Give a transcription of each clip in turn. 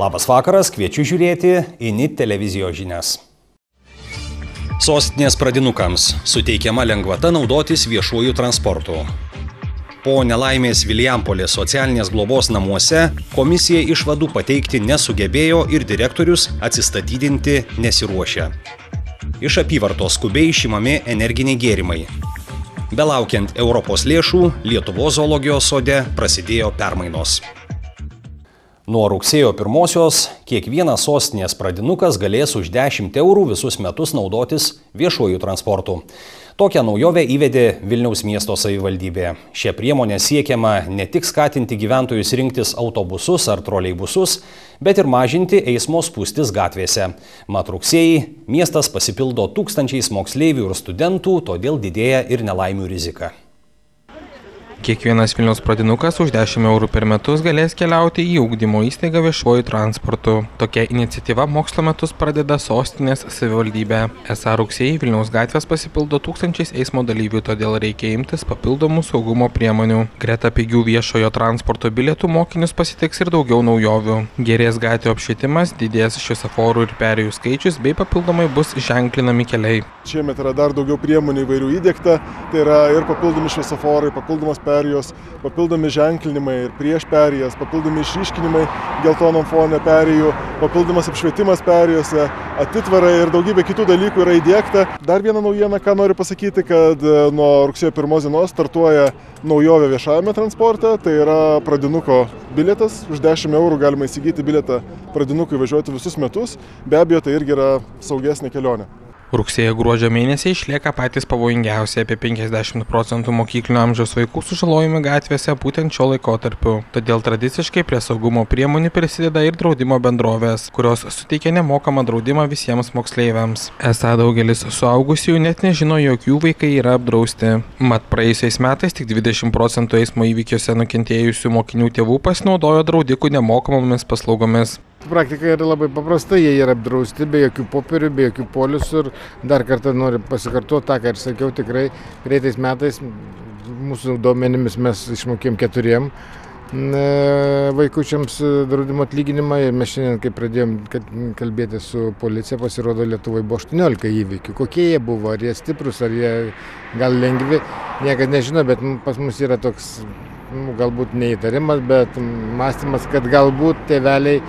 Labas vakaras, kviečiu žiūrėti INIT televizijos žinias. Sostinės pradinukams suteikiama lengvata naudotis viešuoju transportu. Po nelaimės Vilijampolės socialinės globos namuose komisija išvadų pateikti nesugebėjo ir direktorius atsistatydinti nesiruošia. Iš apyvartos skubiai išimami energiniai gėrimai. Belaukiant Europos lėšų, Lietuvos zoologijos sode prasidėjo permainos. Nuo rugsėjo 1-osios kiekvienas sostinės pradinukas galės už 10 eurų visus metus naudotis viešuoju transportu. Tokią naujovę įvedė Vilniaus miesto savivaldybė. Šią priemonę siekiama ne tik skatinti gyventojus rinktis autobusus ar troleibusus, bet ir mažinti eismo spūstis gatvėse. Mat rugsėjį miestas pasipildo tūkstančiais moksleivių ir studentų, todėl didėja ir nelaimių rizika. Kiekvienas Vilniaus pradinukas už 10 eurų per metus galės keliauti į ugdymo įstaigą viešuoju transportu. Tokia iniciatyva mokslo metus pradeda sostinės savivaldybė. Esą rugsėjį Vilniaus gatvės pasipildo tūkstančiais eismo dalyvių, todėl reikia imtis papildomų saugumo priemonių. Greta pigių viešojo transporto bilietų mokinius pasitiks ir daugiau naujovių. Gerės gatvių apšvietimas, didės šviesoforų ir perėjų skaičius bei papildomai bus ženklinami keliai. Šiemet yra dar daugiau priemonių įvairių įdiegta, tai yra ir papildomi šviesoforai, papildomos perėjos, papildomi ženklinimai ir prieš perėjas, papildomi išryškinimai geltonom fone perėjų, papildomas apšvietimas perėjose, atitvarai ir daugybė kitų dalykų yra įdiegta. Dar viena naujiena, ką noriu pasakyti, kad nuo rugsėjo 1 dienos startuoja naujovė viešajame transporte, tai yra pradinuko bilietas. Už 10 eurų galima įsigyti bilietą pradinukui važiuoti visus metus, be abejo tai irgi yra saugesnė kelionė. Rugsėjo-gruodžio mėnesiai išlieka patys pavojingiausi, apie 50% mokyklinio amžiaus vaikų sužalojami gatvėse būtent šio laikotarpiu. Todėl tradiciškai prie saugumo priemonių prisideda ir draudimo bendrovės, kurios suteikia nemokamą draudimą visiems moksleiviams. Esą daugelis suaugusiųjų net nežino, jog jų vaikai yra apdrausti. Mat praėjusiais metais tik 20% eismo įvykiuose nukentėjusių mokinių tėvų pasinaudojo draudikų nemokamomis paslaugomis. Praktika yra labai paprasta, jie yra apdrausti be jokių popierių, be jokių polisų ir dar kartą noriu pasikartoti tą, ką ir sakiau, tikrai greitais metais mūsų duomenimis mes išmokėm 4 vaikučiams draudimo atlyginimą ir mes šiandien, kai pradėjom kalbėti su policija, pasirodo Lietuvoje buvo 18 įvykių. Kokie jie buvo, ar jie stiprus, ar jie gal lengvi, niekad nežino, bet pas mus yra toks galbūt neįtarimas, bet mąstymas, kad galbūt tėveliai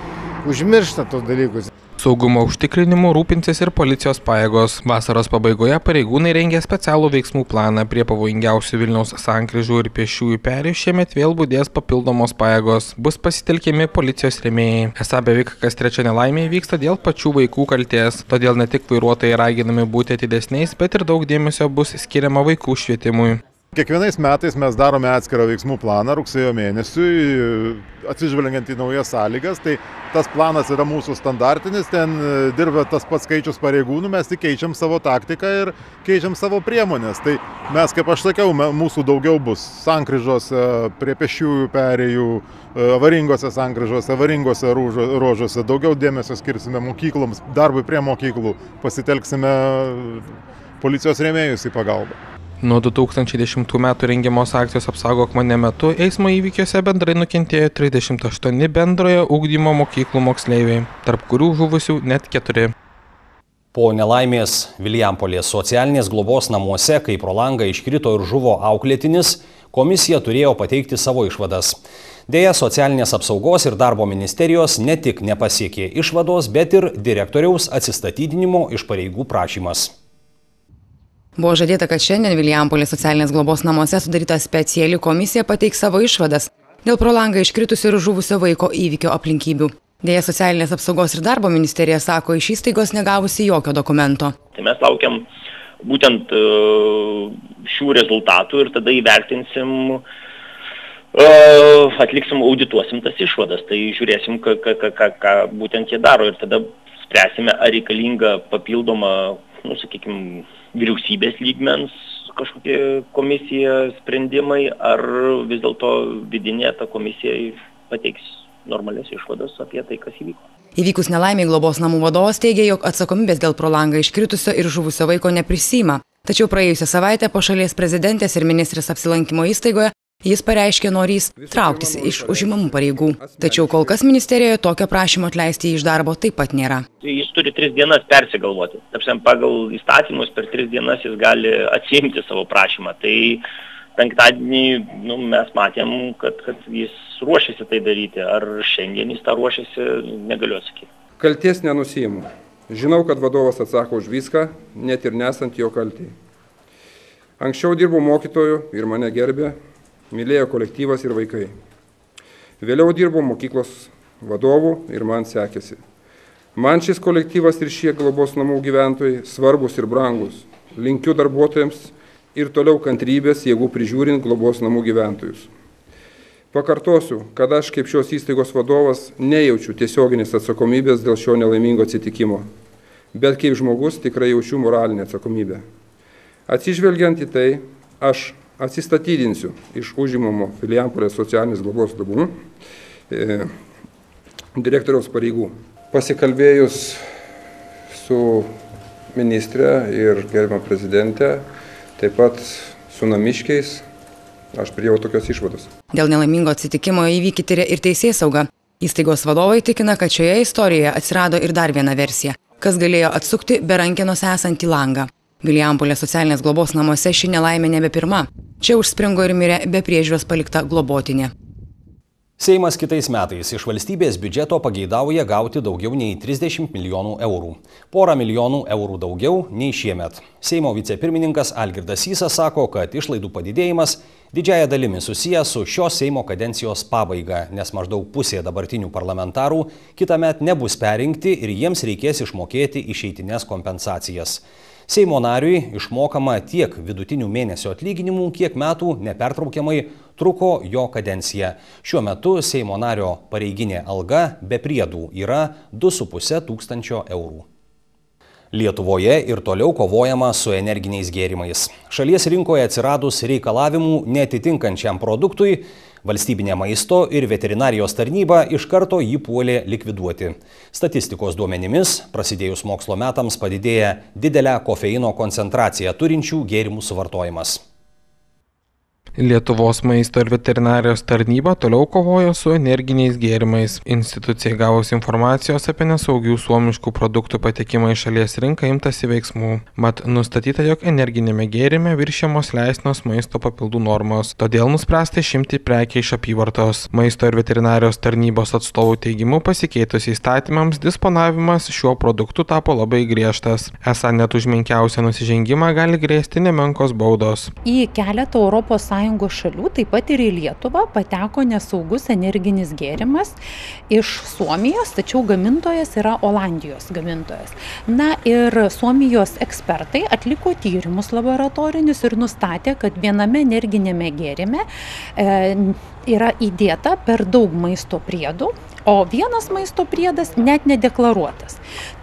užmiršta tos dalykus. Saugumo užtikrinimu rūpinsis ir policijos pajėgos. Vasaros pabaigoje pareigūnai rengia specialų veiksmų planą. Prie pavojingiausių Vilniaus sankryžų ir pėsčiųjų perėjų šiemet vėl budės papildomos pajėgos. Bus pasitelkiami policijos rėmėjai. Esą beveik kas 3 nelaimė vyksta dėl pačių vaikų kaltės. Todėl ne tik vairuotojai raginami būti atidesniais, bet ir daug dėmesio bus skiriama vaikų švietimui. Kiekvienais metais mes darome atskirą veiksmų planą rugsėjo mėnesiui, atsižvelgiant į naujas sąlygas. Tai tas planas yra mūsų standartinis, ten dirba tas pats skaičius pareigūnų, mes tik keičiam savo taktiką ir keičiam savo priemonės. Tai mes, kaip aš sakiau, mūsų daugiau bus sankryžose, prie pėsčiųjų perėjų, avaringose sankryžose, avaringose ruožuose. Daugiau dėmesio skirsime mokykloms, darbui prie mokyklų, pasitelksime policijos rėmėjus į pagalbą. Nuo 2010 metų rengiamos akcijos Apsaugok mane metu eismo įvykiuose bendrai nukentėjo 38 bendrojo ugdymo mokyklų moksleiviai, tarp kurių žuvusių net 4. Po nelaimės Vilijampolės socialinės globos namuose, kai pro langą iškrito ir žuvo auklėtinis, komisija turėjo pateikti savo išvadas. Deja, socialinės apsaugos ir darbo ministerijos ne tik nepasiekė išvados, bet ir direktoriaus atsistatydinimo iš pareigų prašymas. Buvo žadėta, kad šiandien Vilijampolės socialinės globos namuose sudaryta speciali komisija pateiks savo išvadas dėl pro langą iškritusio ir žuvusio vaiko įvykio aplinkybių. Deja, socialinės apsaugos ir darbo ministerija sako iš įstaigos negavusi jokio dokumento. Tai mes laukiam būtent šių rezultatų ir tada įvertinsim, atliksim, audituosim tas išvadas. Tai žiūrėsim, ką būtent jie daro ir tada spręsime, ar reikalinga papildoma, sakykime, vyriausybės lygmens kažkokie komisija sprendimai, ar vis dėlto vidinė ta komisija pateiks normalias išvadas apie tai, kas įvyko. Įvykus nelaimiai globos namų vadovas teigia, jog atsakomybės dėl pro langą iškritusio ir žuvusio vaiko neprisiima. Tačiau praėjusią savaitę po šalies prezidentės ir ministrės apsilankimo įstaigoje Jis pareiškė norys trauktis iš užimamų pareigų. Tačiau kol kas ministerijoje tokio prašymo atleisti jį iš darbo taip pat nėra. Jis turi 3 dienas persigalvoti. Tapšien, pagal įstatymus per 3 dienas jis gali atsiimti savo prašymą. Tai penktadienį mes matėm, kad jis ruošiasi tai daryti. Ar šiandien jis tą ruošiasi, negaliu atsakyti. Kalties nenusiimu. Žinau, kad vadovas atsako už viską, net ir nesant jo kaltei. Anksčiau dirbau mokytoju ir mane gerbė, mylėjo kolektyvas ir vaikai. Vėliau dirbau mokyklos vadovų ir man sekėsi. Man šis kolektyvas ir šie globos namų gyventojai svarbus ir brangus. Linkiu darbuotojams ir toliau kantrybės, jeigu prižiūrint globos namų gyventojus. Pakartosiu, kad aš kaip šios įstaigos vadovas nejaučiu tiesioginės atsakomybės dėl šio nelaimingo atsitikimo, bet kaip žmogus tikrai jaučiu moralinę atsakomybę. Atsižvelgiant į tai, aš atsistatydinsiu iš užimamo Vilijampolės socialinės globos namų direktoriaus pareigų. Pasikalbėjus su ministre ir gerbiama prezidente, taip pat su namiškiais, aš priėjau tokios išvados. Dėl nelaimingo atsitikimo įvykį tiria ir teisėsauga. Įstaigos vadovai tikina, kad šioje istorijoje atsirado ir dar viena versija, kas galėjo atsukti be rankenos esantį langą. Vilijampolės socialinės globos namuose ši nelaimė nebe pirma. Čia užspringo ir mirė be priežiūros palikta globotinė. Seimas kitais metais iš valstybės biudžeto pageidauja gauti daugiau nei 30 milijonų eurų. 1 milijonų eurų daugiau nei šiemet. Seimo vicepirmininkas Algirdas Sysas sako, kad išlaidų padidėjimas didžiąja dalimi susijęs su šios Seimo kadencijos pabaiga, nes maždaug pusė dabartinių parlamentarų kitąmet nebus perrinkti ir jiems reikės išmokėti išeitinės kompensacijas. Seimo nariui išmokama tiek vidutinių mėnesio atlyginimų, kiek metų nepertraukiamai truko jo kadencija. Šiuo metu Seimo nario pareiginė alga be priedų yra 2,5 tūkstančio eurų. Lietuvoje ir toliau kovojama su energiniais gėrimais. Šalies rinkoje atsiradus reikalavimų neatitinkančiam produktui, Valstybinė maisto ir veterinarijos tarnyba iš karto jį puolė likviduoti. Statistikos duomenimis, prasidėjus mokslo metams padidėja didelę kofeino koncentraciją turinčių gėrimų suvartojimas. Lietuvos maisto ir veterinarijos tarnyba toliau kovojo su energiniais gėrimais. Institucijai gavus informacijos apie nesaugių suomiškų produktų patekimą į šalies rinką imtasi veiksmų. Mat nustatyta, jog energinėme gėrime viršijamos leistinos maisto papildų normos. Todėl nuspręsta išimti prekę iš apyvartos. Maisto ir veterinarijos tarnybos atstovų teigimu pasikeitus įstatymams disponavimas šiuo produktu tapo labai griežtas. Esą net už menkiausią nusižengimą gali grėsti nemenkos baudos. Į keletą ES šalių, taip pat ir į Lietuvą, pateko nesaugus energinis gėrimas iš Suomijos, tačiau gamintojas yra Olandijos gamintojas. Na ir Suomijos ekspertai atliko tyrimus laboratorinius ir nustatė, kad viename energinėme gėrime yra įdėta per daug maisto priedų, o vienas maisto priedas net nedeklaruotas.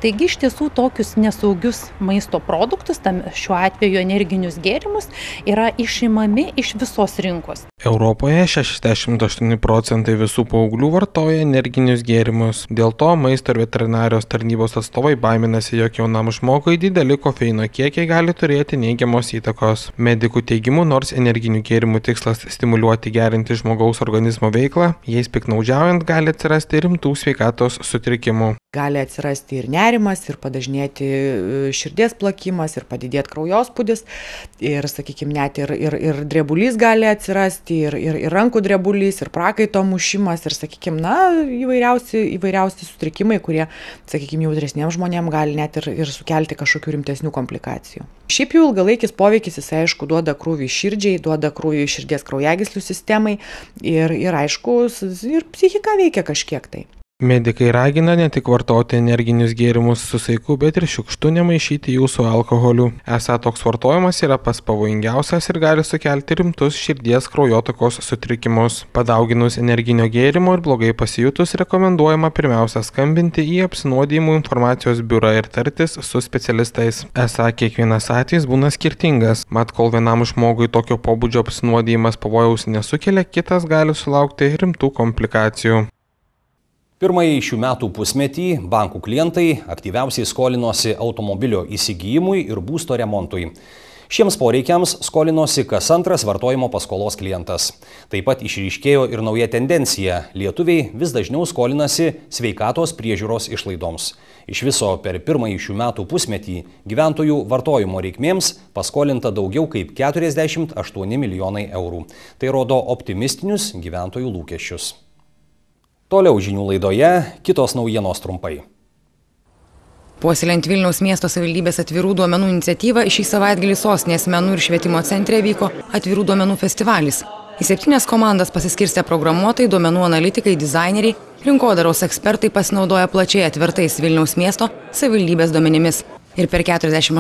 Taigi iš tiesų tokius nesaugius maisto produktus, šiuo atveju energinius gėrimus, yra išimami iš visos rinkos. Europoje 68% visų paauglių vartoja energinius gėrimus. Dėl to maisto ir veterinarijos tarnybos atstovai baiminasi, jog jaunam žmogui dideli kofeino kiekiai gali turėti neigiamos įtakos. Medikų teigimu, nors energinių gėrimų tikslas stimuliuoti gerinti žmogaus organizmo veiklą, jais piktnaudžiaujant gali atsirasti rimtų sveikatos sutrikimų. Gali atsirasti ir nerimas, ir padažnėti širdies plakimas, ir padidėti kraujospūdis, ir, sakykime, net ir drebulys gali atsirasti, ir rankų drebulys, ir prakaito mušimas, ir, sakykime, įvairiausi sutrikimai, kurie, sakykime, jautresniems žmonėms gali net ir sukelti kažkokių rimtesnių komplikacijų. Šiaip jau ilgalaikis poveikis, jis, aišku, duoda krūvį širdžiai, duoda krūvį širdies kraujagyslių sistemai ir aišku, ir psichika veikia kažkiek tai. Medikai ragina ne tik vartoti energinius gėrimus su saiku, bet ir šiukštu nemaišyti jų su alkoholiu. Esą toks vartojimas yra pats pavojingiausias ir gali sukelti rimtus širdies kraujotakos sutrikimus. Padauginus energinio gėrimo ir blogai pasijutus, rekomenduojama pirmiausia skambinti į apsinuodijimų informacijos biurą ir tartis su specialistais. Esą kiekvienas atvejis būna skirtingas, mat kol vienam žmogui tokio pobūdžio apsinuodijimas pavojaus nesukelia, kitas gali sulaukti rimtų komplikacijų. Pirmąjį šių metų pusmetį bankų klientai aktyviausiai skolinosi automobilio įsigijimui ir būsto remontui. Šiems poreikiams skolinosi kas antras vartojimo paskolos klientas. Taip pat išryškėjo ir nauja tendencija. Lietuviai vis dažniau skolinasi sveikatos priežiūros išlaidoms. Iš viso per pirmąjį šių metų pusmetį gyventojų vartojimo reikmėms paskolinta daugiau kaip 48 milijonai eurų. Tai rodo optimistinius gyventojų lūkesčius. Toliau žinių laidoje kitos naujienos trumpai. Puoselėjant Vilniaus miesto savivaldybės atvirų duomenų iniciatyvą, šį savaitgalį sostinės menų ir švietimo centre vyko atvirų duomenų festivalis. Į 7 komandas pasiskirstę programuotojai, duomenų analitikai, dizaineriai, rinkodaros ekspertai pasinaudoja plačiai atvertais Vilniaus miesto savivaldybės duomenimis. Ir per 48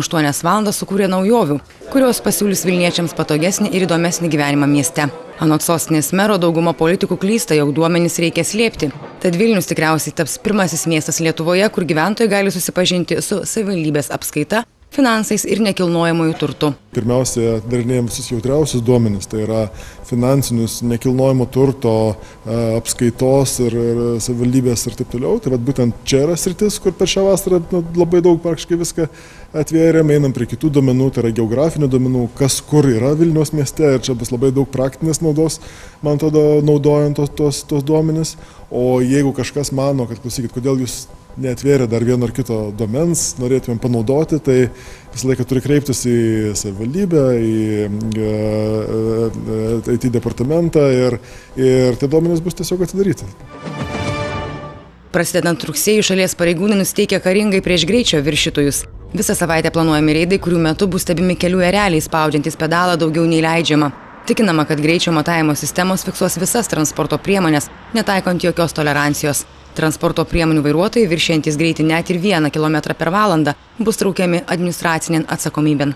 valandas sukūrė naujovių, kurios pasiūlys vilniečiams patogesnį ir įdomesnį gyvenimą mieste. Anot sostinės mero dauguma politikų klysta, jog duomenys reikia slėpti. Tad Vilnius tikriausiai taps pirmasis miestas Lietuvoje, kur gyventojai gali susipažinti su savivaldybės apskaita, finansais ir nekilnojamųjų turtų. Pirmiausia, darinėjom visus jautriausius duomenis, tai yra finansinius, nekilnojamo turto, apskaitos ir savivaldybės ir taip toliau. Tai būtent čia yra sritis, kur per šią vasarą labai daug praktiškai viską atvėrėm, einam prie kitų duomenų, tai yra geografinių duomenų, kas kur yra Vilniaus mieste ir čia bus labai daug praktinės naudos, man atrodo, naudojant tos duomenis. O jeigu kažkas mano, kad klausykit, kodėl jūs neatvėrė dar vieno ar kito duomens, norėtumėm panaudoti, tai visą laiką turi kreiptis į savivaldybę, į IT departamentą ir tie duomenys bus tiesiog atidaryti. Prasidedant rugsėjui, šalies pareigūnai nusiteikia karingai prieš greičio viršytojus. Visą savaitę planuojami reidai, kurių metu bus stebimi kelių ereliai, spaudžiantys pedalą daugiau nei leidžiama. Tikinama, kad greičio matavimo sistemos fiksuos visas transporto priemonės, netaikant jokios tolerancijos. Transporto priemonių vairuotojai viršijantys greitį net ir 1 km per valandą bus traukiami administracinėn atsakomybėn.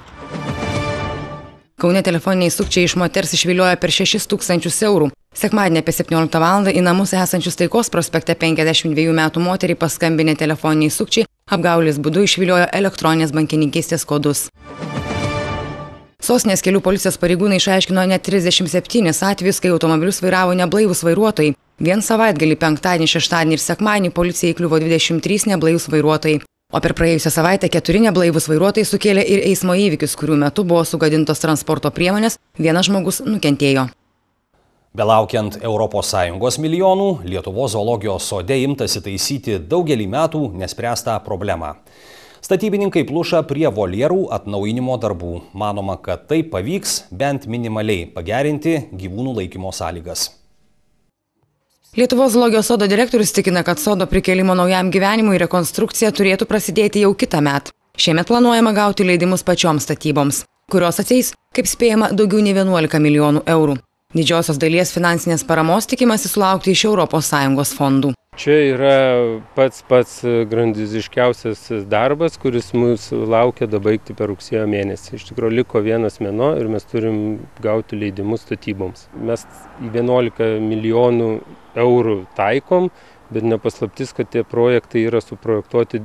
Kaune telefoniniai sukčiai iš moters išviliojo per 6 000 eurų. Sekmadienį apie 17 val. Į namus esančius Taikos prospekte 52 metų moteriai paskambinę telefoniniai sukčiai apgaulės būdu išviliojo elektroninės bankininkystės kodus. Sostinės kelių policijos pareigūnai išaiškino net 37 atvejus, kai automobilius vairavo neblaivūs vairuotojai. Vien savaitgalį, penktadienį, šeštadienį ir sekmadienį policijai įkliuvo 23 neblaivūs vairuotojai. O per praėjusią savaitę 4 neblaivūs vairuotojai sukėlė ir eismo įvykius, kurių metu buvo sugadintos transporto priemonės, vienas žmogus nukentėjo. Belaukiant ES milijonų, Lietuvos zoologijos sode imtasi taisyti daugelį metų nespręstą problemą. Statybininkai pluša prie voljerų atnaujinimo darbų. Manoma, kad tai pavyks bent minimaliai pagerinti gyvūnų laikymo sąlygas. Lietuvos zoologijos sodo direktorius tikina, kad sodo prikėlimo naujam gyvenimui rekonstrukcija turėtų prasidėti jau kitąmet. Šiemet planuojama gauti leidimus pačioms statyboms, kurios ateis, kaip spėjama, daugiau nei 11 milijonų eurų. Didžiosios dalies finansinės paramos tikimasi sulaukti iš ES fondų. Čia yra pats grandiziškiausias darbas, kuris mūsų laukia dabaigti per rugsėjo mėnesį. Iš tikrųjų liko 1 mėnuo ir mes turim gauti leidimus statyboms. Mes 11 milijonų eurų taikom, bet nepaslaptis, kad tie projektai yra suprojektuoti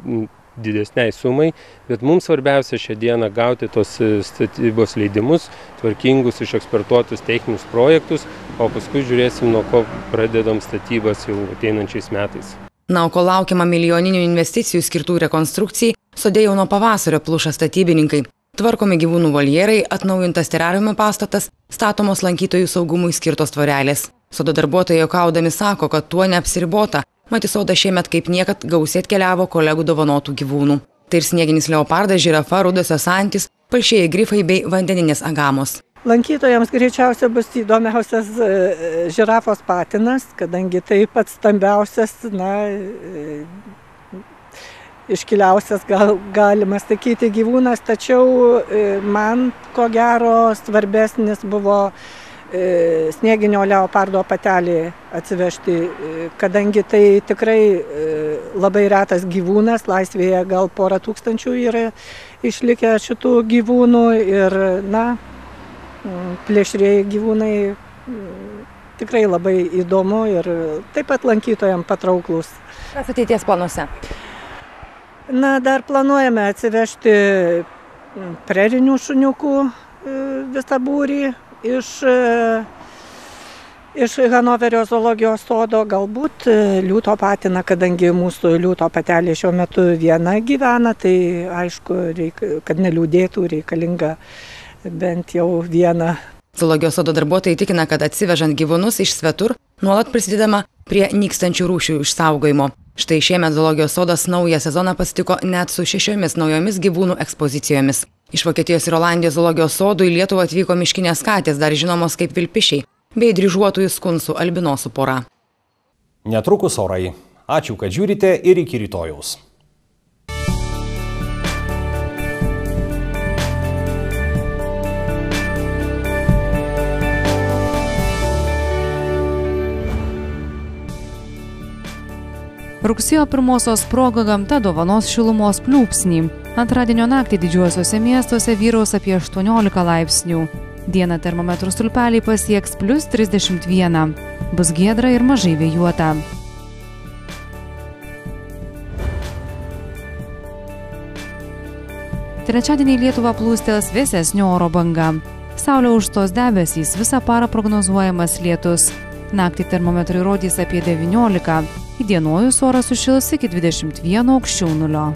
didesniai sumai, bet mums svarbiausia šią dieną gauti tos statybos leidimus, tvarkingus, išekspertuotus techninius projektus, o paskui žiūrėsim, nuo ko pradedam statybas jau ateinančiais metais. Na, o kol laukiama milijoninių investicijų skirtų rekonstrukcijai, sode jau nuo pavasario pluša statybininkai. Tvarkomi gyvūnų voljerai, atnaujintas terariumo pastatas, statomos lankytojų saugumui skirtos tvorelės. Sodo darbuotojai juokaudami sako, kad tuo neapsiribota. Mat į sodą šiemet kaip niekad gausiai atkeliavo kolegų dovanotų gyvūnų. Tai ir snieginis leopardas, žirafa, rudosios antys, palšieji grifai bei vandeninės agamos. Lankytojams greičiausia bus įdomiausias žirafos patinas, kadangi tai pats stambiausias, iškiliausias galima sakyti gyvūnas, tačiau man ko gero svarbesnis buvo snieginio leopardo patelį atsivežti, kadangi tai tikrai labai retas gyvūnas, laisvėje gal porą tūkstančių yra išlikę šitų gyvūnų ir, plėšrieji gyvūnai tikrai labai įdomu ir taip pat lankytojams patrauklus. Kas ateities planuose? Dar planuojame atsivežti prerinių šuniukų visą būrį iš Hanoverio zoologijos sodo, galbūt liūto patiną, kadangi mūsų liūto patelė šiuo metu viena gyvena, tai aišku, kad neliūdėtų, reikalinga bent jau vieną. Zoologijos sodo darbuotojai tikina, kad atsivežant gyvūnus iš svetur, nuolat prisidedama prie nykstančių rūšių išsaugojimo. Štai šiemet zoologijos sodas naują sezoną pasitiko net su 6 naujomis gyvūnų ekspozicijomis. Iš Vokietijos ir Olandijos zoologijos sodų į Lietuvą atvyko miškinės katės, dar žinomos kaip vilpišiai, bei dryžuotųjų skunsų albinosų pora. Netrukus orai. Ačiū, kad žiūrite ir iki rytojaus. Rugsėjo 1-osios proga gamta dovanos šilumos pliūpsnį. Antradienio naktį didžiuosiuose miestuose vyraus apie 18 laipsnių. Dieną termometrų stulpeliai pasieks +31. Bus giedra ir mažai vėjuota. Trečiadienį Lietuvą plūstels vėsesnio oro banga. Saulė užstos debesys, visą parą prognozuojamas lietus. Naktį termometrai rodys apie 19. Įdienojus oras sušils iki 21 aukščiau nulio.